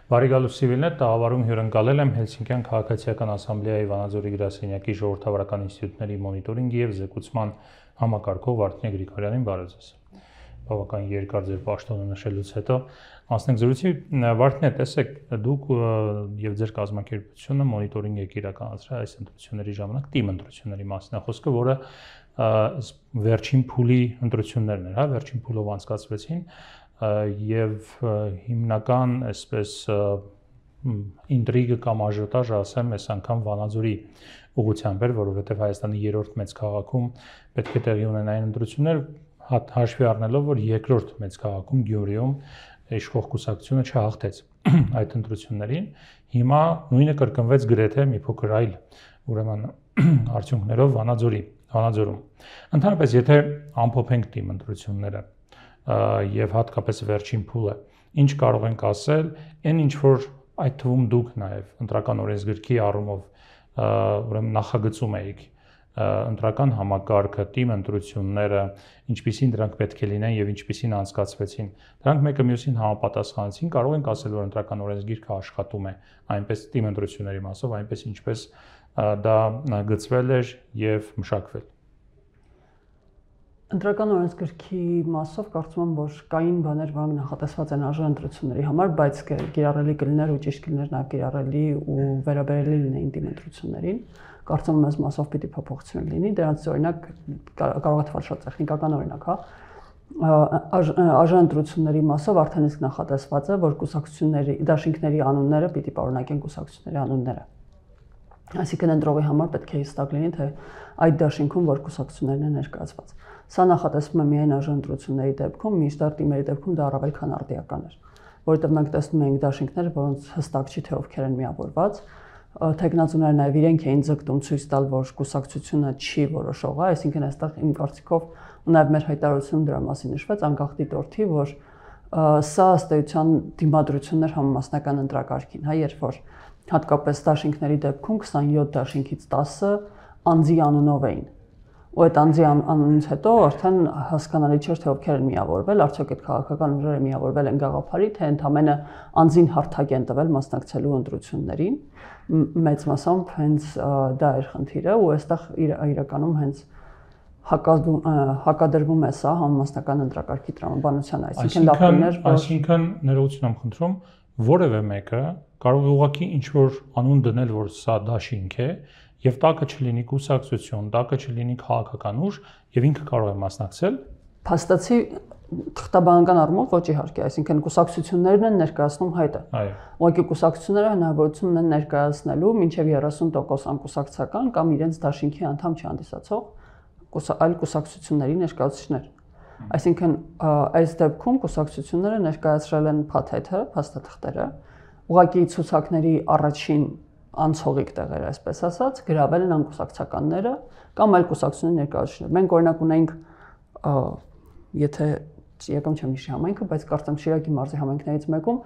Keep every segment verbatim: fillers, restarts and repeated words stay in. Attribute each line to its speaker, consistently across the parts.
Speaker 1: Բարի Սիվիլնետ տաղավարում հյուրընկալել եմ Հելսինկյան քաղաքացիական ասամբլեայի Վանաձորի գրասենյակի ժողովրդավարական ինստիտուտների մոնիտորինգի և զեկուցման համակարգող Վարդգեն Գրիգորյանին բարև ձեզ։ Բավական երկար ձեր պաշտոնը նշելուց հետո անցնենք զրույցի։ Վարդգեն, տեսեք, դուք եւ ձեր կազմակերպությունը մոնիտորինգ եք իրականացրել այս ընտրությունների ժամանակ, թիմ ընտրությունների մասին է խոսքը, որը վերջին փուլի ընտրություններն էր, հա, վերջին փուլով անցկացվեցին եւ հիմնական այսպես ինտրիգը կամ աժիոտաժը ասեմ, այս անգամ Վանաձորի ուղղությամբ էր, որովհետեւ Հայաստանի երրորդ մեծ քաղաքում պետք է տեղի ունենային ընտրություններ, հաշվի առնելով, որ երկրորդ մեծ քաղաքում Գյումրիում իշխող կուսակցությունը չհաղթեց այդ ընտրություններին, հիմա նույնը կրկնվեց գրեթե մի փոքր այլ, ուրեմն արդյունքներով Վանաձորի, Վանաձորում։ Ընդհանրապես, եթե ամփոփենք թիմ ընտրությունները եւ հատկապես վերջին փուլը, ինչ կարող ենք ասել, այն ինչ որ այդ թվում դուք նաեւ ընտրական օրենսգրքի առումով ուրեմն նախագծում եք ընտրական համակարգը, թիմ ընտրությունները, ինչպիսին դրանք պետք է լինեն եւ ինչպիսին անցկացվեցին, դրանք մեկը մյուսին համապատասխանեցին, կարող ենք ասել, որ ընտրական օրենսգիրքը աշխատում է այնպես թիմ ընտրությունների մասով, այնպես ինչպես դա գծվել էր եւ մշակվել։
Speaker 2: Ընտրական օրենսգրքի մասով կարծում եմ, որ կային բաներ, որոնք նախատեսված են արժան ընտրությունների համար, բայց կիրառելի կլիներ ու ճիշտ կլիներ նաև կիրառելի ու վերաբերելի լինեին թիմ ընտրություններին։ Կարծում եմ, այս մասով պիտի փոփոխություն լինի, դրանց օրինակ կարող է թվալ շատ տեխնիկական օրինակ, հա։ Արժան ընտրությունների մասով արդեն իսկ նախատեսված է, որ կուսակցությունների, դաշինքների անունները պիտի պարունակեն կուսակցությունների անունները։ Այսինքն ընտրողի համար պետք է հստակ լինի, թե այդ դաշինքում որ կուսակցություններն են ներկայացված։ Սա նախատեսվում է միայն արժան ընտրությունների դեպքում, մինչդեռ թիմերի դեպքում դա առավել քան արդիական էր, որովհետև մենք տեսնում ենք դաշինքներ, որոնց հստակ չի թե ովքեր են միավորված, թեկնածուները նաև իրենք էին ձգտում ցույց տալ, որ կուսակցությունը չի որոշողը, այսինքն այստեղ իմ կարծիքով ու նաև մեր հայտարարությունում դրա մասին նշվեց անկախ դիտորդի, որ սա ըստ էության դիմադրություններ համամասնական ընտրակարգին, հա, երբ որ հատկապես դաշինքների դեպքում քսանյոթ դաշինքից տասը անձի անունով էին։ Ու այդ անձի անունից հետո արդեն հասկանալի չէր, թե ովքեր են միավորվել, արդյոք այդ քաղաքական ուժերը միավորվել են գաղափարի, թե ընդամենը անձին հարթակ են տվել մասնակցելու ընտրություններին։ Մեծ մասամբ հենց դա էր խնդիրը, ու այստեղ իրականում հենց հակադրվում է սա համամասնական ընտրակարգի տրամաբանությանը, այսինքն լավ կլիներ, որ
Speaker 1: այսինքն ներողություն եմ խնդրում, որևէ մեկը կարող է ուղղակի ինչ-որ անուն դնել, որ սա դաշինք է, եւ տակը չլինի կուսակցություն, տակը չլինի քաղաքական ուժ եւ ինքը կարող է մասնակցել։
Speaker 2: Փաստացի թղթաբանական առումով ոչ իհարկե, այսինքն կուսակցություններն են ներկայացնում հայտը։
Speaker 1: Այո։
Speaker 2: Ուղղակի կուսակցությունները հնարավորություն ունեն ներկայացնելու մինչև երեսուն տոկոս անկուսակցական կամ իրենց դաշինքի անդամ չհանդիսացող այլ կուսակցությունների ներկայացուցիչներ։ Այսինքն այս դեպքում կուսակցությունները ներկայացրել են փաթեթը, փաստաթղթերը, ուղղակի ցուցակների առաջին անցողիկ տեղերը, այսպես ասած, գրավել են անկուսակցականները կամ այլ կուսակցությունների ներկայացուցիչներ։ Մենք օրինակ ունենք, եթե եկամ չեմ հիշի համայնքը, բայց կարծեմ Շիրակի մարզի համայնքներից մեկում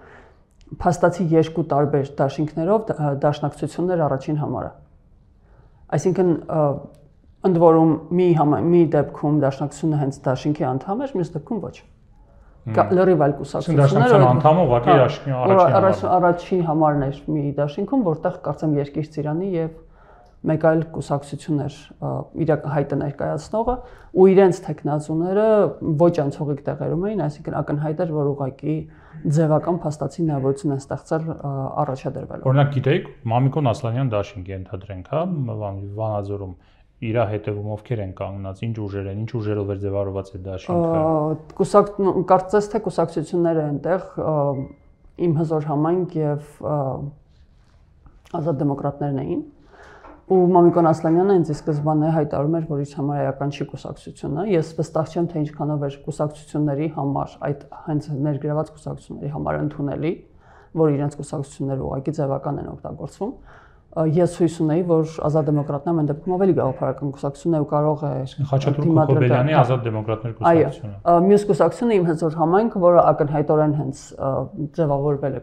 Speaker 2: փաստացի երկու տարբեր դաշինքներով դաշնակցություններ առաջին համարը։ Այսինքն ընդ որում մի մի դեպքում դաշնակցությունը հենց դաշինքի անդամ էր, մյուս դեպքում ոչ։ Լրիվ այլ կուսակցություններ
Speaker 1: անդամը ուղղակի առաջին
Speaker 2: առաջին համարն էր մի դաշինքում, որտեղ կարծեմ Երկիր Ծիրանի եւ մեկ այլ կուսակցություններ իր հայտը ներկայացնողը ու իրենց տեխնացուները ոչ անցողիկ տեղերում էին, այսինքն ակնհայտ էր, որ ուղղակի ձևական փաստացի հնարավորություն են ստեղծել առաջադրվելու։
Speaker 1: Օրինակ գիտեք, Մամիկոն Ասլանյան դաշինք է ընդհանրենք, հա, Վանաձորում իր հետևում ովքեր են կանգնած, ինչ ուժեր են, ինչ ուժերով էր ձևավորված այդ դաշինքը։
Speaker 2: Կուսակ կարծես թե կուսակցությունները այնտեղ իմ հզոր համայնք եւ ազատ դեմոկրատներն էին։ Ու Մամիկոն Ասլանյանը ինձ ի սկզբանե հայտարարում էր, որ իր համար էական չի կուսակցությունը։ Ես վստահ չեմ, թե ինչքանով էր կուսակցությունների համար, այդ հենց ներգրաված կուսակցությունների համար ընդունելի, որ իրենց կուսակցությունները ուղղակի ձևական են օգտագործվում։ Ես հույս ունեի, որ ազատ դեմոկրատն ամեն դեպքում ավելի գաղափարական կուսակցություն է ու կարող է
Speaker 1: Խաչատրուկ Հոբելյանի ազատ դեմոկրատներ կուսակցությունը։
Speaker 2: Այո, մյուս կուսակցությունը իմ հզոր համայնքը, որը ակնհայտորեն հենց ձևավորվել է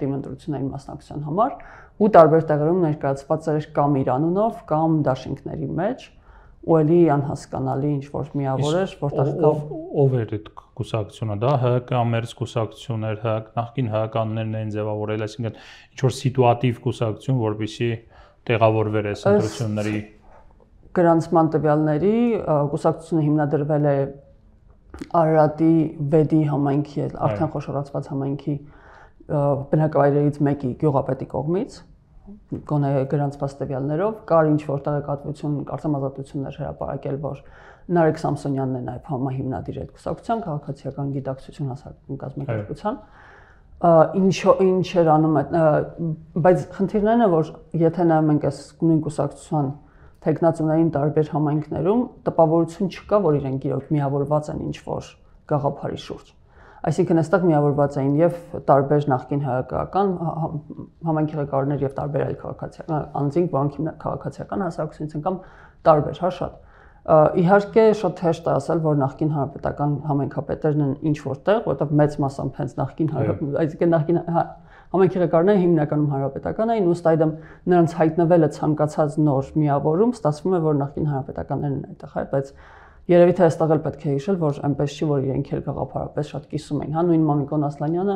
Speaker 2: թիմ ընտրությունների մասնակցության համար ու տարբեր տեղերում ներկայացված էր կամ իր անունով, կամ դաշինքների մեջ, ու էլի անհասկանալի ինչ որ միավոր էր, որտեղ
Speaker 1: ով էր այդ կուսակցությունը, դա ՀՀԿ ամերց կուսակցություն էր, նախկին ՀՀԿ-ներն էին ձևավորել, այսինքն ինչ որ սիտուատիվ կուսակցություն, որպեսզի տեղավորվեր այս ընտրությունների
Speaker 2: գրանցման տվյալների կուսակցությունը հիմնադրվել է Արարատի Վեդի համայնքի, արդեն խոշորացված համայնքի բնակավայրերից մեկի գյուղապետի կողմից, գոնե գրանցված տվյալներով, կար ինչ որ տեղեկատվություն, կարծեմ ազատություններ հրապարակել, որ Նարեկ Սամսոնյանն է նաև համահիմնադիր այդ կուսակցության, քաղաքացիական գիտակցություն հասարակական կազմակերպության, ինչ ինչ էր անում այդ, բայց խնդիրն այն է, որ եթե նայում ենք այս նույն կուսակցության թեկնածուներին տարբեր համայնքներում տպավորություն չկա, որ իրենք իրոք միավորված են ինչ որ գաղափարի շուրջ։ Այսինքն այստեղ միավորված էին եւ տարբեր նախկին հայկական համայնքի ղեկավարներ եւ տարբեր այլ քաղաքացիական անձինք, որոնք քաղաքացիական հասարակությունից են կամ տարբեր, հա շատ։ Իհարկե շատ հեշտ է ասել, որ նախկին հանրապետական համայնքապետերն են ինչ որտեղ, որովհետեւ մեծ մասամբ հենց նախկին այսինքն նախկին համայնքի ղեկավարները հիմնականում հանրապետական էին, ըստ այդմ նրանց հայտնվելը ցանկացած նոր միավորում ստացվում է, որ նախկին հանրապետականներն են այդտեղ, այ, բայց երևի թե այստեղ էլ պետք է հիշել, որ այնպես չի, որ իրենք էլ գաղափարապես շատ կիսում էին, հա նույն Մամիկոն Ասլանյանը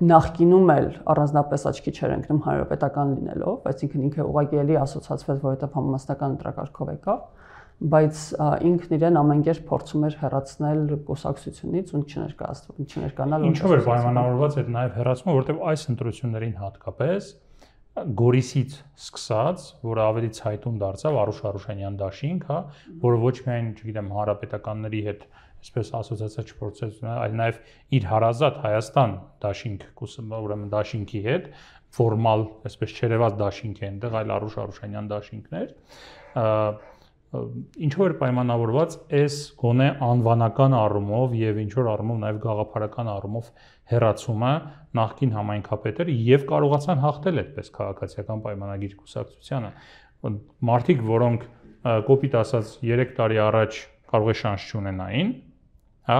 Speaker 2: նախկինում էլ առանձնապես աչքի չեր ընկնում հանրապետական լինելով, բայց ինքն ինքը ուղղակի էլի ասոցացվեց, որովհետև համամասնական ընտրակարգով եկավ, բայց ինքն իրեն ամենքեր փորձում էր հեռացնել կուսակցությունից ու չներկայացնել, չներկանալ։
Speaker 1: Ինչով էր պայմանավորված այդ նաև հեռացումը, որովհետև այս ընտրություններին հատկապես Գորիսից սկսած, որը ավելի ցայտուն դարձավ Արուշ Արուշանյան դաշինք, հա, որը ոչ միայն, չգիտեմ, հանրապետականների հետ այսպես ասոցիացիա չփորձեց, այլ նաև իր հարազատ Հայաստան դաշինք, ուրեմն դաշինքի հետ ֆորմալ, այսպես չերևած դաշինք է այնտեղ, այլ Արուշ Արուշանյան դաշինքներ, ինչով էր պայմանավորված այս գոնե անվանական առումով եւ ինչ որ առումով նաեւ գաղափարական առումով հերացումը նախկին համայնքապետերը եւ կարողացան հաղթել այդպես քաղաքացիական պայմանագիր կուսակցությանը մարդիկ, որոնք կոպիտ ասած երեք տարի առաջ կարող է շանս չունենային, հա,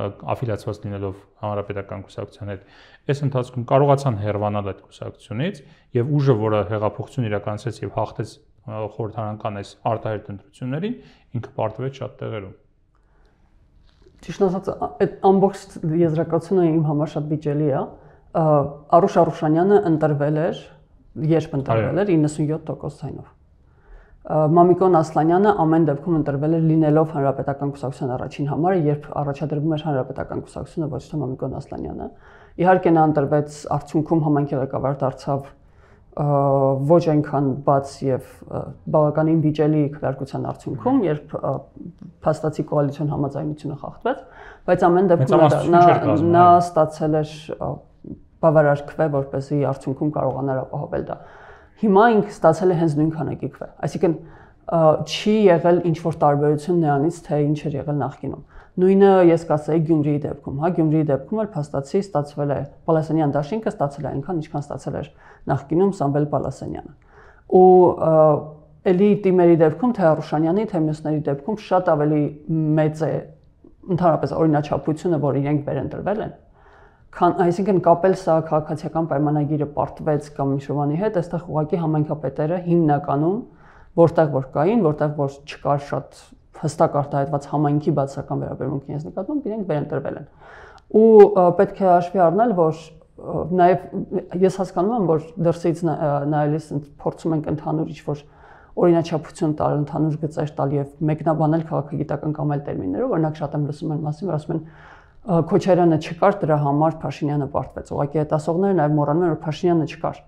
Speaker 1: աֆիլիացված լինելով հանրապետական կուսակցության հետ, այս ընթացքում կարողացան հեռանալ այդ կուսակցությունից եւ ուժը, որը հեղափոխություն իրականացրեց եւ հաղթեց խորհրդարանական այս արտահերտ ընտրություններին, ինքը պարտվեց շատ տեղերում։
Speaker 2: Ճիշտ ասած, այդ ամբողջ եզրակացությունը իմ համար շատ վիճելի է։ Արուշ Արուշանյանը ընտրվել էր, երբ ընտրվել էր իննսունյոթ տոկոս ցայնով։ Մամիկոն Ասլանյանը ամեն դեպքում ընտրվել էր լինելով հանրապետական կուսակցության առաջին համարը, երբ առաջադրվում էր հանրապետական կուսակցությունը, ոչ թե Մամիկոն Ասլանյանը։ Իհարկե նա ընտրվեց, արդյունքում համայնքի ղեկավար դարձավ ոչ այնքան բաց եւ բավականին վիճելի քվեարկության արդյունքում, երբ փաստացի կոալիցիոն համաձայնությունը խախտվեց, բայց ամեն դեպքում նա նա ստացել էր բավարար քվե, որպեսզի արդյունքում կարողանար ապահովել դա։ Հիմա ինքը ստացել է հենց նույն քանակի քվե, այսինքն չի եղել ինչ որ տարբերություն նրանից, թե ինչ էր եղել նախկինում։ Նույնը ես կասեի Գյումրիի դեպքում, հա, Գյումրիի դեպքում էլ փաստացի ստացվել է Պալասանյան դաշինքը ստացել է այնքան, ինչքան ստացել էր նախկինում Սամվել Պալասանյանը։ Ու էլի տիմերի դեպքում, թե Արուշանյանի, թե մյուսների դեպքում շատ ավելի մեծ է ընդհանրապես օրինաչափությունը, որ իրենք վերընտրվել են, քան այսինքն կապել սա քաղաքացիական պայմանագիրը պարտվեց կամ Միշովանի հետ, այստեղ ուղղակի համայնքապետերը հիմնականում որտեղ որ կային, որտեղ որ չկար շատ հստակ արտահայտված համայնքի բացական վերաբերմունքի ես նկատում, իրենք վերընտրվել են։ Ու պետք է հաշվի առնել, որ նաև ես հասկանում եմ, որ դրսից նայելիս փորձում ենք ընդհանուր ինչ-որ օրինաչափություն տալ, ընդհանուր գծեր տալ եւ մեկնաբանել քաղաքագիտական կամ այլ տերմիններով, օրինակ շատ եմ լսում այն մասին, որ ասում են Քոչարյանը չկար, դրա համար Փաշինյանը պարտվեց։ Ուղղակի այդ ասողները նաև մոռանում են, որ Փաշինյանը չկար։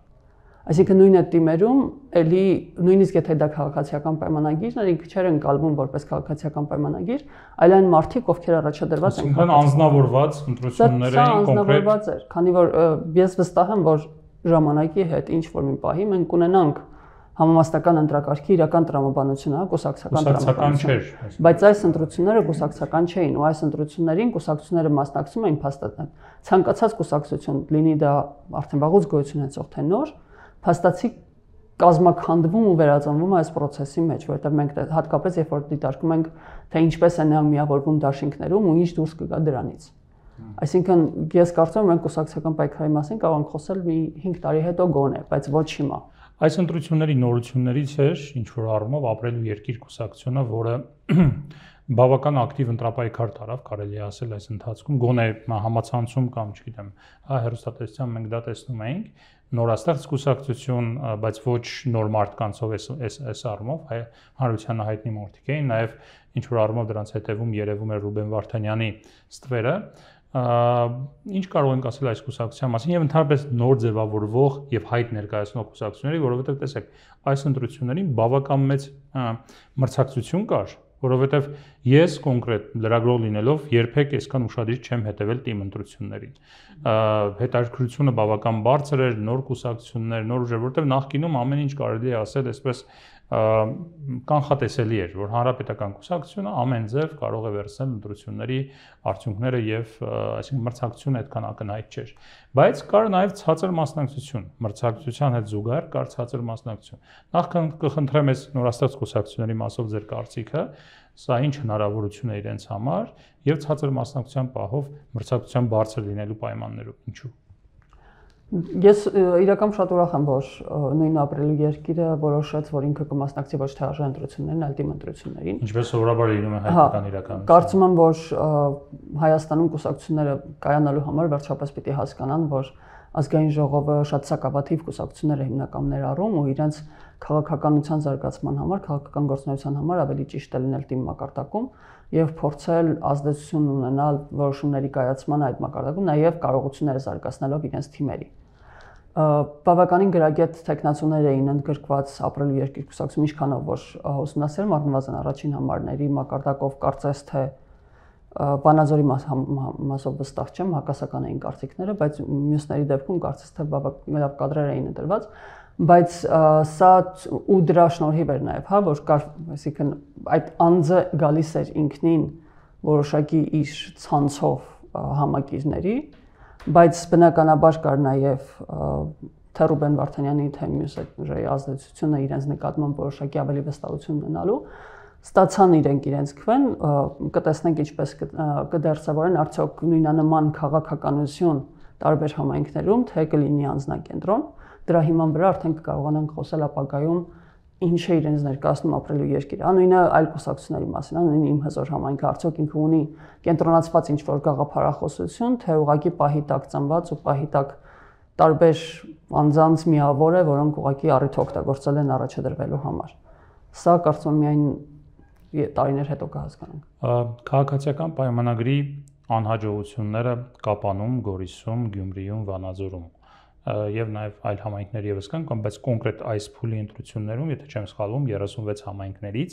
Speaker 2: Այսինքն նույն այդ տիմերում էլի նույնիսկ եթե դա քաղաքացիական պայմանագիրն էր, ինքը չէր ընկալվում որպես քաղաքացիական պայմանագիր, այլ այն մարդիկ, ովքեր առաջադրված են։
Speaker 1: Այսինքն անձնավորված ընտրություններ էին կոնկրետ։
Speaker 2: Էր, քանի որ ես վստահ եմ, որ ժամանակի հետ ինչ որ մի պահի մենք կունենանք համամասնական ընտրակարգի իրական տրամաբանությունը, կուսակցական տրամաբանություն։ Բայց այս ընտրությունները կուսակցական չէին, ու այս ընտրություններին կուսակցությունները մասնակցում էին փաստաթղթ։ Ցանկացած կուսակցություն, լինի դա արդեն վաղուց գոյություն ունեցող թե նոր, փաստացի կազմաքանդվում ու վերածնվում այս process-ի մեջ, որովհետև մենք հատկապես երբ որ դիտարկում ենք, թե ինչպես է նա միավորվում դաշինքներում ու ինչ դուրս կգա դրանից։ Այսինքն ես կարծում եմ մենք կուսակցական պայքարի մասին կարող ենք խոսել մի հինգ տարի հետո գոնե, բայց ոչ հիմա։
Speaker 1: Այս ընտրությունների նորություններից էր ինչ որ առումով ապրելու երկիր կուսակցությունը, որը բավական ակտիվ ընտրապայքար տարավ, կարելի է ասել այս ընթացքում, գոնե համացանցում կամ, չգիտեմ, հա հեռուստատեսությամբ մենք դա տեսնում էինք, նորաստեղծ կուսակցություն, բայց ոչ նոր մարդկանցով այս այս այս առումով, հայ հանրությանը հայտնի մարդիկ էին, նաև ինչ որ առումով դրանց հետևում երևում էր Ռուբեն Վարդանյանի ստվերը, ինչ կարող ենք ասել այս կուսակցության մասին եւ ընդհանրապես նոր ձևավորվող եւ հայտ ներկայացնող կուսակցությունների, որովհետեւ տեսեք, այս ընտրություններին բավական մեծ մրցակցություն կար, որովհետեւ ես կոնկրետ լրագրող լինելով երբեք այսքան ուշադիր չեմ հետևել թիմ ընտրություններին։ Հետաքրքրությունը բավական բարձր էր, նոր կուսակցություններ, նոր ուժեր, որովհետեւ նախկինում ամեն ինչ կարելի է ասել այսպես կանխատեսելի էր, որ հանրապետական կուսակցությունը ամեն ձև կարող է վերցնել ընտրությունների արդյունքները եւ այսինքն մրցակցությունը այդքան ակնհայտ չէր, բայց կար նաեւ ցածր մասնակցություն, մրցակցության հետ զուգահեռ կար ցածր մասնակցություն։ Նախ կխնդրեմ այս նորաստեղծ կուսակցությունների մասով ձեր կարծիքը, սա ինչ հնարավորություն է իրենց համար եւ ցածր մասնակցության պահով մրցակցության բարձր լինելու պայմաններով, ինչու։
Speaker 2: Ես իրական շատ ուրախ եմ, որ նույն ապրելու երկիրը որոշեց, որ ինքը կմասնակցի ոչ թե արժան ընտրություններին, այլ թիմ ընտրություններին։
Speaker 1: Ինչպես սովորաբար լինում է հայկական իրականություն։
Speaker 2: Կարծում եմ, որ Հայաստանում կուսակցությունները կայանալու համար վերջապես պիտի հասկանան, որ ազգային ժողովը շատ սակավաթիվ կուսակցություններ է հիմնական ներառում ու իրենց քաղաքականության զարգացման համար, քաղաքական գործունեության համար ավելի ճիշտ է լինել թիմ մակարդակում եւ փորձել ազդեցություն ունենալ որոշումների կայացման այդ մակարդակում, նաեւ կարողությունները զարգացնելով իրենց թիմերի։ Բավականին գրագետ տեխնացուներ էին ընդգրկված ապրելու երկիր կուսակցություն, ինչքանով որ ուսումնասիրել առնվազն առաջին համարների մակարդակով կարծես թե Վանաձորի մասով վստահ չեմ, հակասական էին կարծիքները, բայց մյուսների դեպքում կարծես թե բավական լավ կադրեր էին ընտրված, բայց սա ու դրա շնորհիվ էր նաև, հա, որ կար, այսինքն այդ անձը գալիս էր ինքնին որոշակի իր ցանցով համակիրների, բայց բնականաբար կար նաև թե Ռուբեն Վարդանյանի թե մյուս ուժերի ազդեցությունը իրենց նկատմամբ որոշակի ավելի վստահություն ունենալու, ստացան իրենք իրենց քվեն, կտեսնենք ինչպես կդերձավորեն արդյոք նույնանման քաղաքականություն տարբեր համայնքներում, թե կլինի անձնակենտրոն, դրա հիման վրա արդեն կկարողանանք խոսել ապագայում ինչ է իրենց ներկայացնում ապրելու երկիրը, նույնը այլ կուսակցությունների մասին, նույն իմ հզոր համայնքը արդյոք ինքը ունի կենտրոնացված ինչ-որ գաղափարախոսություն, թե ուղղակի պահի տակ ծնված ու պահի տակ տարբեր անձանց միավոր է, որոնք ուղղակի առիթ օգտագործել են առաջադրվելու համար։ Սա կարծում եմ միայն տարիներ հետո կհասկանանք։
Speaker 1: Քաղաքացիական պայմանագրի անհաջողությունները Կապանում, Գորիսում, Գյումրիում, Վանաձորում եւ նաեւ այլ համայնքներ եւս կան, կամ բայց կոնկրետ այս փուլի ընտրություններում, եթե չեմ սխալվում, երեսունվեց համայնքներից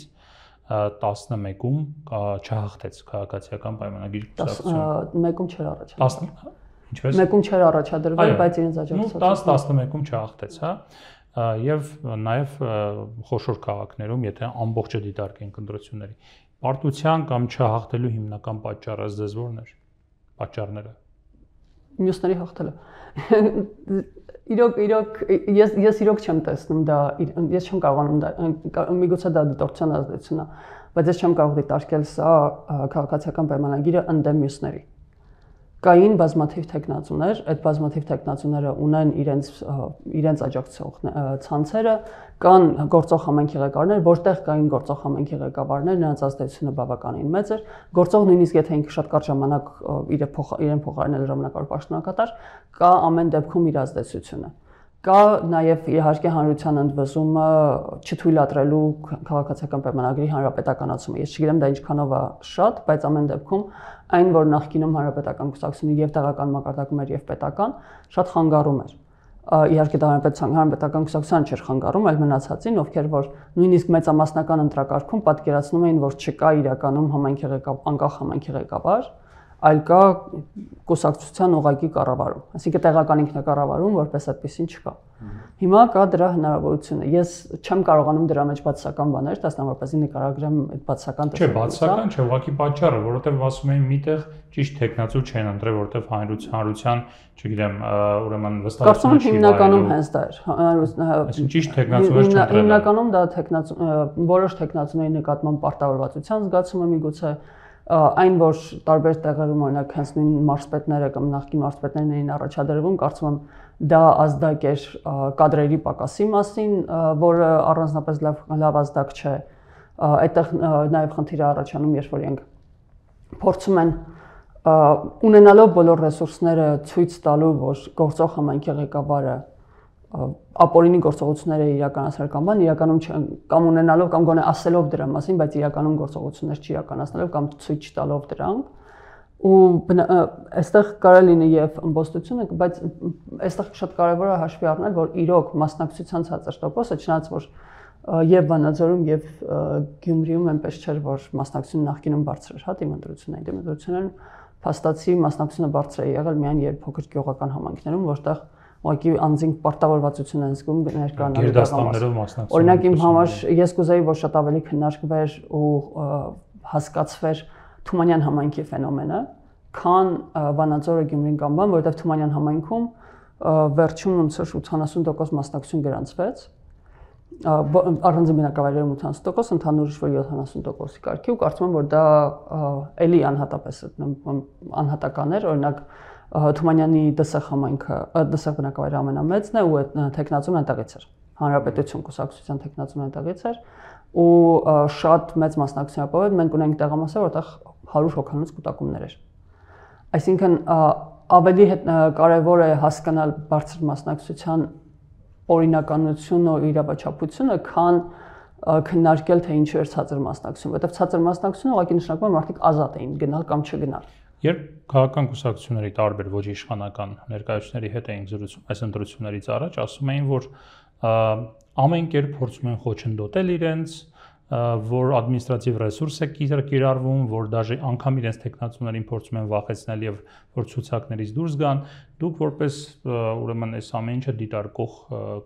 Speaker 1: տասնմեկում չհաղթեց քաղաքացիական պայմանագրի կուսակցությունը։
Speaker 2: Մեկում չէր առաջադրվել։
Speaker 1: Ինչպես։
Speaker 2: Մեկում չէր առաջադրվել, բայց իրենց աջակցությամբ
Speaker 1: տասը տասնմեկում չհաղթեց, հա։ Եվ նաև խոշոր քաղաքներում, եթե ամբողջը դիտարկենք ընտրությունների, պարտության կամ չհաղթելու հիմնական պատճառը ձեզ որն էր։ Պատճառները։
Speaker 2: Մյուսների հաղթելը։ Իրոք, իրոք, ես ես իրոք չեմ տեսնում դա, ես չեմ կարողանում դա, միգուցե դա դիտորդության ազդեցություն է, բայց ես չեմ կարող դիտարկել սա քաղաքացիական պայմանագիրը ընդդեմ մյուսների։ Կային բազմաթիվ տեխնացուներ, այդ բազմաթիվ տեխնացուները ունեն իրենց իրենց աջակցող ցանցերը, կան գործող համայնքի ղեկավարներ, որտեղ կային գործող համայնքի ղեկավարներ, նրանց ազդեցությունը բավականին մեծ էր, գործող նույնիսկ եթե ինքը շատ կարճ ժամանակ իրեն փոխարինել ժամանակավոր պաշտոնակատար, կա ամեն դեպքում իր ազդեցությունը։ Կա նաև իհարկե հանրության ընդվզումը չթույլատրելու քաղաքացիական պայմանագրի հանրապետականացումը։ Ես չգիտեմ դա ինչքանով է շատ, բայց ամեն դեպքում այն, որ նախկինում հանրապետական կուսակցությունը եւ տեղական մակարդակում էր եւ պետական, շատ խանգարում էր։ Իհարկե դա հանրապետական կուսակցության չէր խանգարում, այլ մնացածին, ովքեր որ նույնիսկ մեծամասնական ընտրակարգում պատկերացնում էին, որ չկա իրականում համայնքի ղեկավար, անկախ համայնքի ղեկավար, այլ կա կուսակցության ուղղակի կառավարում, այսինքն տեղական ինքնակառավարում, որպես այդպեսին չկա։ Հիմա կա դրա հնարավորությունը։ Ես չեմ կարողանում դրա մեջ բացասական բաներ, դասնա որպեսզի նկարագրեմ այդ բացասական
Speaker 1: տեսանկյունը։ Չէ, բացասական չէ, ուղղակի պատճառը, որովհետև ասում էին միտեղ ճիշտ տեխնացու չեն ընտրել, որովհետև հանրության, չգիտեմ, ուրեմն վստահությունը չի վայելում։ Հիմնականում
Speaker 2: հենց դա էր։
Speaker 1: Այսինքն ճիշտ տեխնացուներ չընտրել։
Speaker 2: Հիմնականում դա տեխնացու որոշ տեխնացուների նկատմամբ պարտավորվածության զգացումը միգուցե Այն որ տարբեր տեղերում օրինակ հենց նույն մարզպետները կամ նախկին մարզպետներն էին առաջադրվում, կարծում եմ դա ազդակ էր կադրերի պակասի մասին, որը առանձնապես լավ լավ ազդակ չէ։ Այդտեղ նաև խնդիր է առաջանում, երբ որ իրենք փորձում են ունենալով բոլոր ռեսուրսները ցույց տալու, որ գործող համայնքի ղեկավարը ապօրինի գործողությունները իրականացնել կամ բան, իրականում կամ ունենալով կամ գոնե ասելով դրա մասին, բայց իրականում գործողություններ չիրականացնելով կամ ցույց չտալով դրանք, ու այստեղ կարելի լինի եւ ըմբոստությունը, բայց այստեղ շատ կարեւոր է հաշվի առնել, որ իրոք մասնակցության ցածր տոկոսը, չնայած որ եւ Վանաձորում եւ Գյումրիում այնպես չէր, որ մասնակցությունը նախկինում բարձր էր, հա, դիմադրությունն, դիմադրությունն փաստացի մասնակցությունը բարձր է եղել միայն եւ փոքր գյուղական համայնքներում, որտեղ ուղղակի անձին պարտավորվածություն են զգում ներկայանալու
Speaker 1: գերդաստաններով մասնակցում։
Speaker 2: Օրինակ իմ համար ես կուզեի, որ շատ ավելի քննարկվեր ու հասկացվեր Թումանյան համայնքի ֆենոմենը, քան Վանաձորը, Գյումրին կամ բան, որովհետև Թումանյան համայնքում վերջում ոնց որ ութանասուն տոկոս մասնակցություն գրանցվեց, առանձին բնակավայրերում ութանասուն տոկոս, ընդհանուր ինչ-որ յոթանասուն տոկոսի կարգի, ու կարծում եմ, որ դա էլի անհատապես անհատական էր, օրինակ Թումանյանի Դսեղ համայնքը, Դսեղ բնակավայրը ամենամեծն է ու այդ տեխնացուն այնտեղից էր։ Հանրապետություն կուսակցության տեխնացուն այնտեղից էր ու շատ մեծ մասնակցություն ապահով, մենք ունենք տեղամասեր, որտեղ հարյուր հոգանոց կուտակումներ էր։ Այսինքն ավելի կարևոր է հասկանալ բարձր մասնակցության օրինականությունը ու իրավաչափությունը, քան քննարկել թե ինչու էր ցածր մասնակցություն, որովհետև ցածր մասնակցությունը ուղղակի նշանակում է մարդիկ ազատ էին գնալ կամ չգնալ։
Speaker 1: Երբ քաղաքական կուսակցությունների տարբեր ոչ իշխանական ներկայացուցիչների հետ էին զրուցում այս ընտրություններից առաջ, ասում էին, որ ամեն կերպ փորձում են խոչընդոտել իրենց, որ ադմինիստրատիվ ռեսուրս է կիրառվում, որ դաժե անգամ իրենց տեխնացուներին փորձում են վախեցնել եւ որ ցուցակներից դուրս գան, դուք որպես ուրեմն այս ամեն ինչը դիտարկող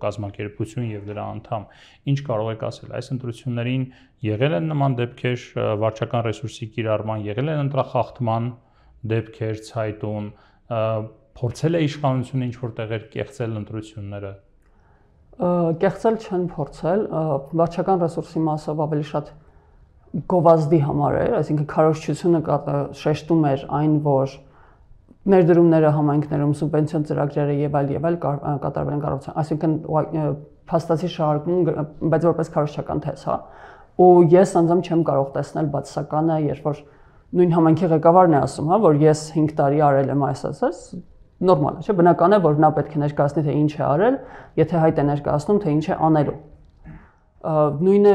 Speaker 1: կազմակերպություն եւ դրա անդամ, ինչ կարող եք ասել այս ընտրություններին եղել են նման դեպքեր վարչական ռեսուրսի կիրառման, եղել են ընտրախախտման դեպքեր ցայտուն, փորձել է իշխանությունը ինչ որ տեղեր կեղծել ընտրությունները։
Speaker 2: Կեղծել չեն փորձել, վարչական ռեսուրսի մասով ավելի շատ գովազդի համար էր, այսինքն քարոզչությունը շեշտում էր այն, որ ներդրումները համայնքներում սուբվենցիոն ծրագրերը եւ այլ եւ այլ կատարվել են կառավարության, այսինքն փաստացի շահարկում, բայց որպես քարոզչական թեզ, հա։ Ու ես անձամբ չեմ կարող տեսնել բացասականը, երբ որ նույն համայնքի ղեկավարն է ասում, հա, որ ես հինգ տարի արել եմ այս ասած, նորմալ է, չէ՞, բնական է, որ նա պետք է ներկայացնի, թե ինչ է արել, եթե հայտ է ներկայացնում, թե ինչ է անելու։ Նույնը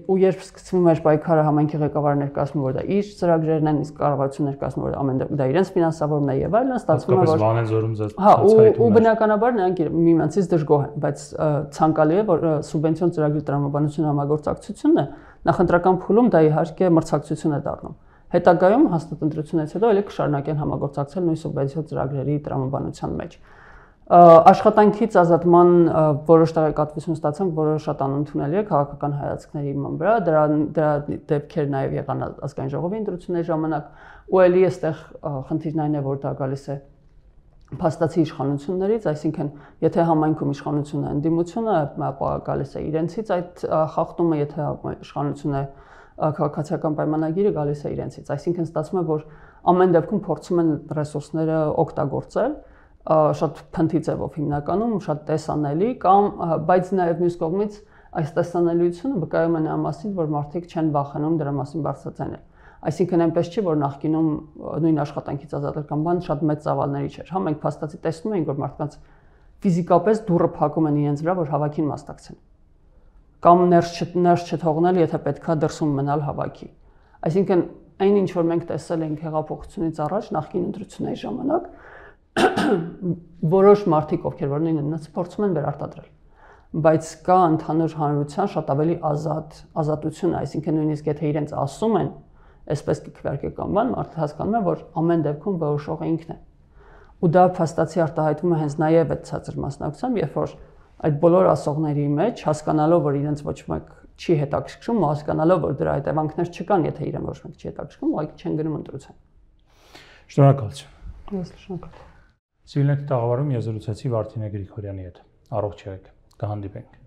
Speaker 2: ու երբ սկսվում էր պայքարը, համայնքի ղեկավարը ներկայացնում, որ դա իր ծրագրերն են, իսկ կառավարությունը ներկայացնում, որ ամեն դա իրենց ֆինանսավորումն է եւ այլն, ստացվում է, որ
Speaker 1: Վանաձորում
Speaker 2: հա, ու բնականաբար նրանք միմյանցից դժգոհ են, բայց ցանկալի է, որ սուբվենցիոն ծրագրի տրամաբանությունը համագործակցությունն է, նախընտրական փուլում դա իհարկե մրցակցություն է դառնում։ Հետագայում հաստատ ընտրությունից հետո ելի կշարունակեն համագործակցել նույն սուբվենցիոն ծրագրերի տրամաբանության մեջ։ Աշխատանքից ազատման որոշ տեղեկատվություն ստացանք, որը շատ անընդունելի է քաղաքական հայացքների իման վրա, դրա դրա դեպքեր նաև եղան ազգային ժողովի ընտրությունների ժամանակ, ու ելի այստեղ խնդիրն այն է, որ դա գալիս է փաստացի իշխանություններից, այսինքն եթե համայնքում իշխանությունը ընդդիմությունը, ապա գալիս է իրենցից այդ խախտումը, եթե իշխանությունը քաղաքացիական պայմանագիրը գալիս է իրենցից, այսինքն ստացվում է, որ ամեն դեպքում փորձում են ռեսուրսները օգտագործել շատ փնթի ձևով հիմնականում, շատ տեսանելի կամ բայց նաև մյուս կողմից այս տեսանելիությունը վկայում է նրա մասին, որ մարդիկ չեն վախենում դրա մասին բարձրացնել։ Այսինքն այնպես չի, որ նախկինում նույն աշխատանքից ազատել կամ բան շատ մեծ ծավալների չէր, հա, մենք փաստացի տեսնում ենք, որ մարդկանց ֆիզիկապես դուռը փակում են իրենց վրա, որ հավաքին մասնակցեն կամ ներս ներս չթողնել, եթե պետքա դրսում մնալ հավաքի։ Այսինքն այն ինչ որ մենք տեսել ենք հեղափոխությունից առաջ նախկին ընտրությունների ժամանակ որոշ մարդիկ, ովքեր որ նույնն փորձում են վերարտադրել, բայց կա ընդհանուր հանրության շատ ավելի ազատ ազատություն, այսինքն նույնիսկ եթե իրենց ասում են, այսպես կքվարկե կամ բան, մարդը հասկանում է, որ ամեն դեպքում որոշողը ինքն է։ Ու դա փաստացի արտահայտվում է հենց նաև այդ ցածր մասնակցությամբ, երբ որ այդ բոլոր ասողների մեջ հասկանալով, որ իրենց ոչ մեկ չի հետաքրքրում, ու հասկանալով, որ դրա հետևանքներ չկան, եթե իրեն ոչ մեկ չի հետաքրքրում, ուղղակի չեն գնում ընտրության։
Speaker 1: Շնորհակալություն։
Speaker 2: Ես շնորհակալ։
Speaker 1: Civilnet տաղավարում ես զրուցեցի Վարդինե Գրիգորյանի հետ։ Առողջ եղեք։ Կհանդիպենք։